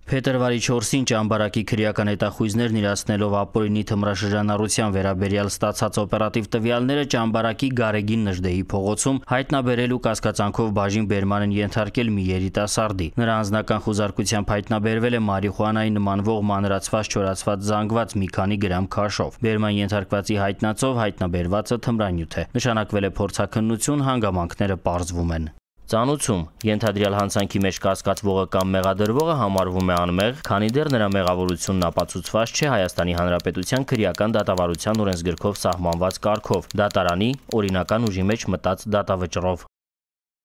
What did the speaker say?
Փետրվարի 4-ին ճամբարակի քրեական հետախույզներն իրացնելով ապօրինի թմրաշրջանառության վերաբերյալ ստացած օպերատիվ տվյալները ճամբարակի Գարեգին Նժդեհի փողոցում հայտնաբերելու կասկածանքով բաժին բերման են ենթարկել մի երիտասարդի։ Նրա անձնական խուզարկությամբ հայտնաբերվել է մարիխուանայի նմանվող մանրացված չորացված զանգված մի քանի գրամ քաշով։ Բերման ենթարկվածի հայտնածով հայտնաբերվածը թմրանյութ է։ Նշանակվել է փորձաքննություն, հանգամանքները պարզվում են։ Ծանուցում ենթադրյալ հանցանքի մեջ կասկածվողը կամ մեղադրվողը համարվում է անմեղ, քանի դեռ նրա մեղավորությունն ապացուցված չէ Հայաստանի Հանրապետության քրեական դատավարության օրենսգրքով սահմանված կարգով՝ դատարանի օրինական ուժի մեջ մտած դատավճռով։